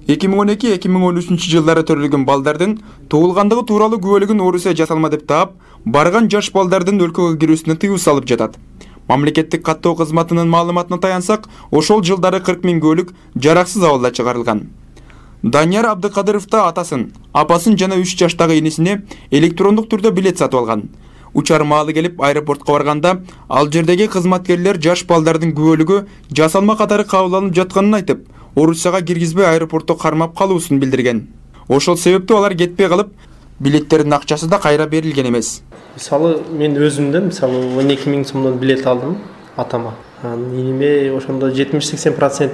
2012-2013 жылдары төрөлгөн балдардын туулгандыгы тууралуу күбөлүгүн Орусия жасалма деп таап, барган жаш балдардын өлкөгө кирүүсүнө тыюу салып жатат. Мамлекеттик каттоо кызматынын маалыматына таянсак, ошол жылдары 40 000 күбөлүк жараксыз абалда чыгарылган. Данияр Абдыкадыров да атасын, апасын жана 3 жаштагы инисине электрондук түрдө билет сатып алган. Учар маалы келип аэропортко барганда, ал жердеги кызматкерлер жаш балдардын күбөлүгү жасалма катары кабыл алынып жатканын айтып, Орусияга киргизбей аэропортто кармап калуусун билдирген. Ошол себептүү алар кетпей калып, билеттердин акчасы да кайра берилген эмес. Мисалы, мен өзүмдөн 12 000 сомдон билет алдым атама. Иниме ошондо 70-80%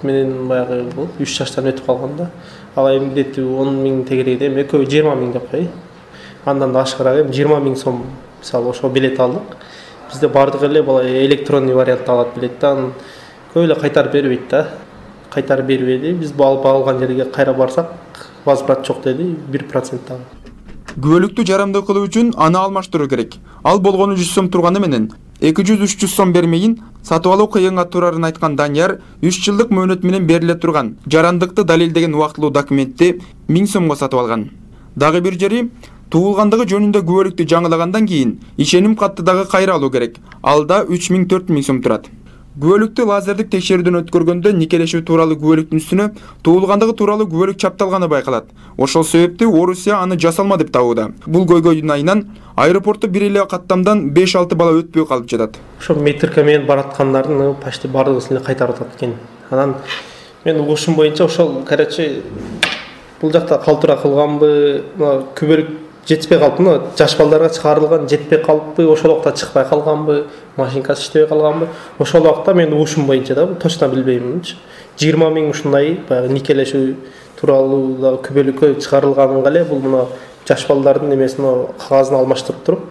менен баягы 3 жаштан өтүп калганда, ага эми билети 10 000 тегерегиде, эми экөө 20 000 деп кой. Андан да ашыгыраак 20 000 сом мисалы ошол билет алдык. Бизде бардык эле бала электронный вариантта алат билетти, анан көп эле кайтарып бербейт да. Кайтарып бербеди. Биз алып алган жерге кайра барсак, возврат жок деди, 1% дагы. Күбөлүктү жарамдуу кылуу үчүн аны алмаштыруу керек. Ал болгону 100 сом турганы менен 200-300 сом бермейин сатып алуу кыйынга турарын айткан Данияр 3 жылдык мөөнөт менен бериле турган жарандыкты далилдеген убактылуу документти 1000 сомго сатып алган. Дагы бир жери, туулгандыгы жөнүндө күбөлүктү жаңылагандан кийин ишеним катты дагы кайра алуу керек. Ал да 3000-4000 сом турат. Күбөлүктү лазердик текшерүүдөн өткөргөндө никелешүү тууралуу күбөлүктүн үстүнө туулгандыгы тууралуу күбөлүк чапталганы байкалат. Ошол себептүү Орусия аны жасалма деп табууда. Бул көйгөйдүн айынан аэропортто бир эле каттамдан 5-6 бала өтпөй калып жатат. Ошо метрка менен бараткандардын почти бардыгын кайтарып атат экен. Анан мен угушум боюнча ошол короче бул жакта калтыра кылганбы, күбөлүк жетпей калыппы, жаш балдарга чыгарылган жетпей калыппы, ошол убакта чыкпай калганбы, машинкасы иштебей калганбы, ошол убакта мен угушум боюнча да, точно билбейминчи. 20 000 ушундай баягы никелешүү тууралуу да күбөлүккө чыгарылганга эле бул мына жаш балдардын эмесин кагазын алмаштырып туруп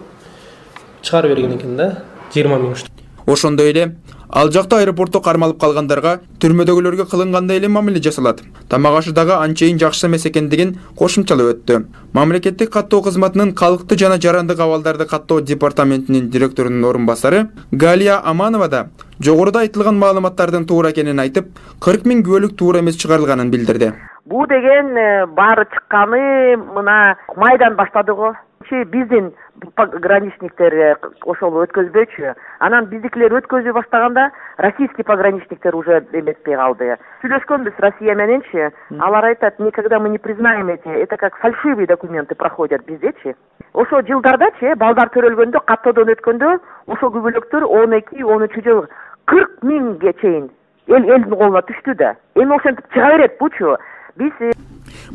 чыгарып берген экен да, 20 000 ушту. Ошондой эле ал жакта аэропортто кармалып калгандарга түрмөдөгүлөргө кылынгандай эле мамиле жасалат. Тамак ашы дагы анчейин жакшы эмес экендигин кошумчалап өттү. Мамлекеттик каттоо кызматынын калкты жана жарандык абалдарды каттоо департаментинин директорунун орун басары Галия Аманова да жогоруда айтылган маалыматтардын туура экенин айтып, 40 000 күбөлүк туура эмес чыгарылганын билдирди. Бул деген баары чыкканы мына майдан баштады го. Биздин пограничниктер ошол өткөзбөчү. Анан биздикилер өткөзүп баштаганда российский пограничниктер уже эметпей калды. Сүйлөшкөнбүз Россия мененчи. Алар айтат, никогда мы не признаем эти, это как фальшивые документы проходят биздечи. Ошо жылдардачы балдар төрөлгөндө, каттоодон өткөндө ошол күбөлүктөр 12-13 жыл 40 000ге чейин элдин колуна түштү да. Эми ошентип чыга берет бучу.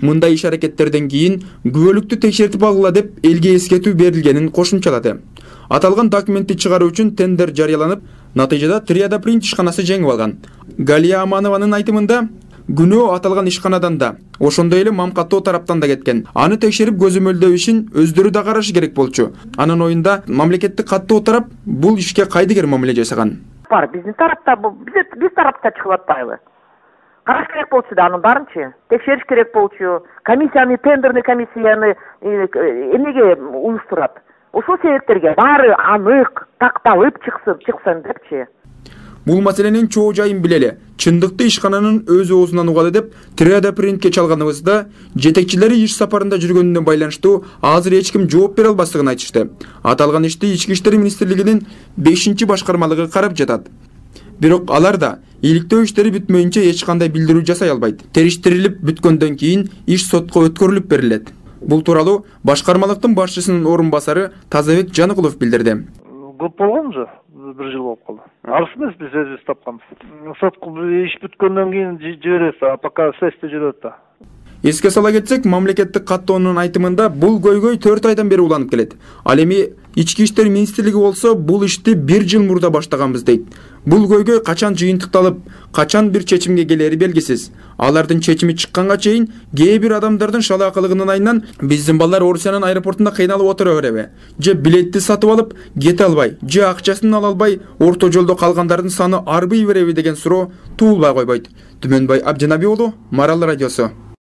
Мындай иш аракеттерден кийин күбөлүктү текшертип алгыла деп элге эскертүү берилгенин кошумчалады. Аталган документти чыгаруу үчүн тендер жарыяланып, натыйжада Триада Принт ишканасы жеңип алган. Галия Аманованын айтымында, күнөө аталган ишканадан да, ошондой эле Мамкаттоо тараптан да кеткен. Аны текшерип көзөмөлдөө ишин өздөрү да карашы керек болчу. Анын оюнда мамлекеттик каттоо тарап бул ишке кайдыгер мамиле жасаган. Бар, биздин тарапта, биз тарапта чыгып атпайбы? Караш керек болчу да анын баарынчы. Текшериш керек болчу. Комиссияны, тендерный комиссияны эмнеге уюштурат? Ошол себептерге баары анык, такталып чыксын депчи. Бул маселенин чоо жайын билели. Чындыкты ишкананын өз оозунан угалы деп Триада Принтке чалганыбызда жетекчилери иш сапарында жүргөнүнө байланыштуу азыр эч ким жооп бере албастыгын айтышты. Аталган ишти Ички иштер министрлигинин 5-башкармалыгы карап жатат. Бирок алар да иликтөө иштери бүтмөйүнчө эч кандай билдирүү жасай албайт. Териштирилип бүткөндөн кийин иш сотко өткөрүлүп берилет. Бул тууралуу башкармалыктын башчысынын орун басары Тазабек Жаныкулов билдирди. Көп болгон же, 1 жыл болуп калды. Арыз эмес биз өзүбүз тапканбыз. Сотко иш бүткөндөн кийин жиберебиз, а пока следствие жүрөт да. Эске сала кетсек, мамлекеттик каттоонун айтымында бул көйгөй 4 айдан бери уланып келет. Ал эми Ички иштер министрлиги болсо бул ишти 1 жыл мурда баштаганбыз дейт. Бул көйгөй качан жыйынтыкталып, качан бир чечимге келери белгисиз. Алардын чечими чыкканга чейин кээ бир адамдардын шалаакылыгынын айынан биздин балдар Орусиянын аэропортунда кыйналып отура береби? Же билетти сатып алып, кете албай, же акчасын ала албай, орто жолдо калгандардын саны арбый береби деген суроо туулбай койбойт. Түмөнбай Абдинабий уулу, Марал радиосу.